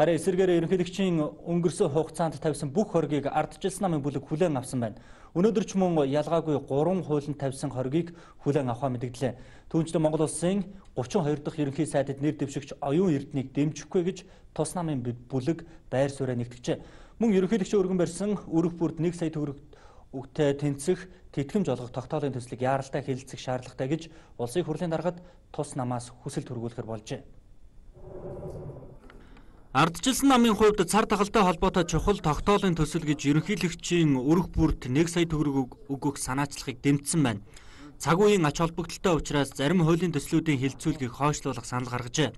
Харин эсэргээрээ ерөнхийлөгчийн өнгөрсөн хугацаанд тавьсан бүх хоргийг ардчилсан намын бүлэг хүлээн авсан байна. Өнөөдөр ч мөн ялгаагүй 3 хуулинд тавьсан хоргийг хүлээн авахаа мэдгдлээ. Түүнчлэн Монгол Улсын 32 дахь ерөнхий сайдад нэр дэвшигч оюун эрднийг дэмжихгүй гэж тус намын бүлэг байр сууриа нэгтгэжээ. Мөн ерөнхийлөгчийн өргөн барьсан өрөх бүрд 1 сая төгрөгтэй тэнцэх тэтгэмж олгох тогтоолын төслийг яаралтай хэлэлцэх шаардлагатай гэж улсын хурлын даргад тус намаас хүсэлт хүргүүлэхээр болжээ. Ардчилсан намын хувьд цар тахалтай холбоотой чухал тогтоолын төсөл гэж ерөнхийлөгчийн өрөх бүрд 1 сая төгрөг өгөх санаачлагыг дэмжсэн байна. Цаг үеийн ач холбогдолтой учраас зарим хуулийн төслүүдийн хилцүүлгийг хойшлуулах санал гаргажээ.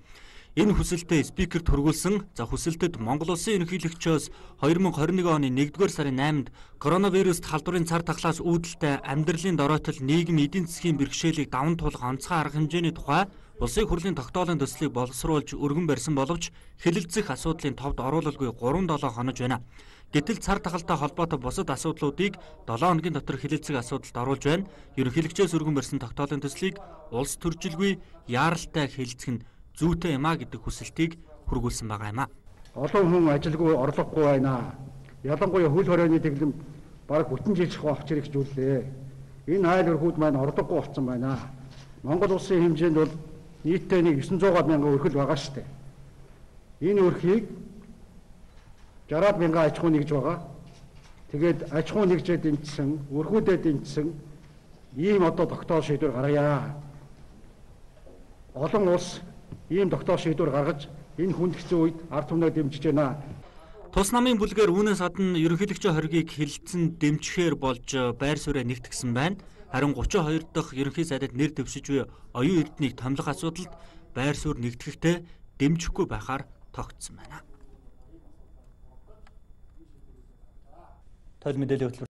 Энэ хүсэлтэд спикерт хүргүүлсэн хүсэлтэд Монгол Улсын ерөнхийлөгчөөс 2021 оны 1-р сарын 8-нд коронавируст халдварын цар тахлаас үүдэлтэй амьдралын дороотол нийгэм эдийн засгийн бэрхшээлийг даван туулах онцгой арга хэмжээний тухай Улсын хурлын тогтоолын төслийг боловсруулж өргөн барьсан боловч хэлэлцэх асуудлын товд оруулалгүй 3-7 хонож байна. Гэтэл цар тахалтай холбоотой бусад асуудлуудыг 7 хоногийн дотор хэлэлцэх асуудалд оруулж байна. Ерөнхийлөгчөөс өргөн барьсан тогтоолын төслийг улс төржилгүй яаралтай хэлэлцэх нь зүйтэй юм а гэдэг хүсэлтийг хүргүүлсэн байгаа юм а. Олон хүн ажилгүй орлогогүй байна. Ялангуяа хөл хорионы дэглэм бараг бүтэн жил авах хэрэгжүүллээ. Энэ айл өрхүүд маань орлогогүй болсон байна. Монгол улсын хэмжээнд бол нийтдээ 900 мянган өрхөл байгаа шүү дээ. Энэ өрхийг 60 мянган аж ахуй нэгж байгаа. Тэгээд аж ахуй нэгжээ дэмжсэн, өрхүүдэд дэмжсэн ийм одоо тогтоол шийдвэр гаргая. Олон улс ийм тогтоол шийдвэр гаргаж энэ хүндэгцэн үед ард түмнээ дэмжиж байна. Тус намын бүлгээр үүнээс гадна ерөнхийлөгчийн хоргийг хэлэлцэн дэмжихээр болж байр сууриа нэгтгэсэн байна. Харин 32 дахь ерөнхий сайдад нэр дэвшиж буй оюун эрднийг томилох асуудалд байр суурь нэгтгэхдээ дэмжихгүй байхаар тогтсон байна. Тойл мэдээлэл